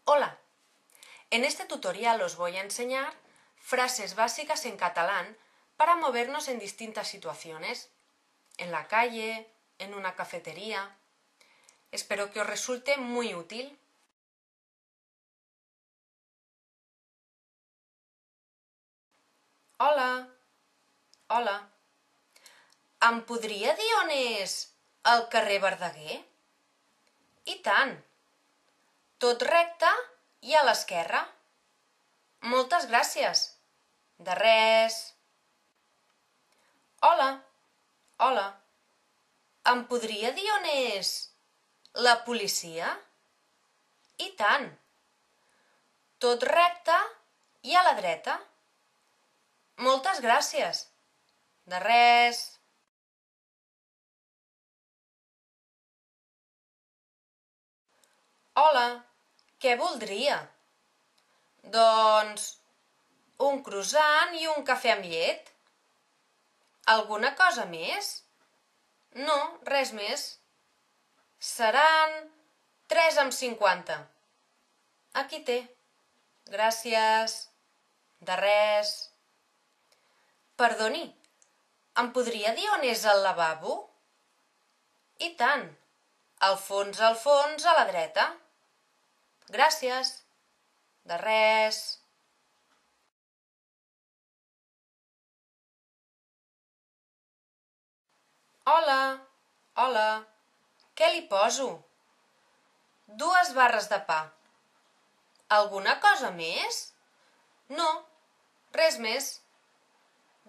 Hola, en este tutorial os voy a enseñar frases básicas en catalán para movernos en distintas situaciones, en la calle, en una cafetería. Espero que os resulte muy útil. Hola, hola. Em podria dir on és el carrer Verdaguer? I tant. Tot recte i a l'esquerra. Moltes gràcies. De res. Hola, hola. Em podria dir on és la policia? I tant. Tot recte i a la dreta. Moltes gràcies. De res. Hola, què voldria? Doncs un croissant i un cafè amb llet. Alguna cosa més? No, res més. Seran 3,50. Aquí té. Gràcies. De res. Perdoni, em podria dir on és el lavabo? I tant. Al fons, a la dreta. Gràcies. De res. Hola, hola. Què li poso? 2 barres de pa. Alguna cosa més? No, res més.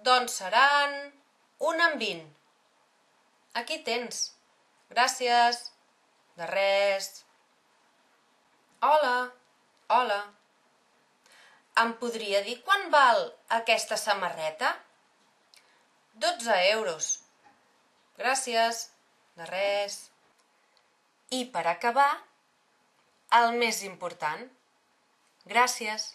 Doncs seran 1,20. Aquí tens. Gràcies. De res. Hola, hola. Em podria dir quant val aquesta samarreta? 12 euros. Gràcies. De res. I per acabar, el més important. Gràcies.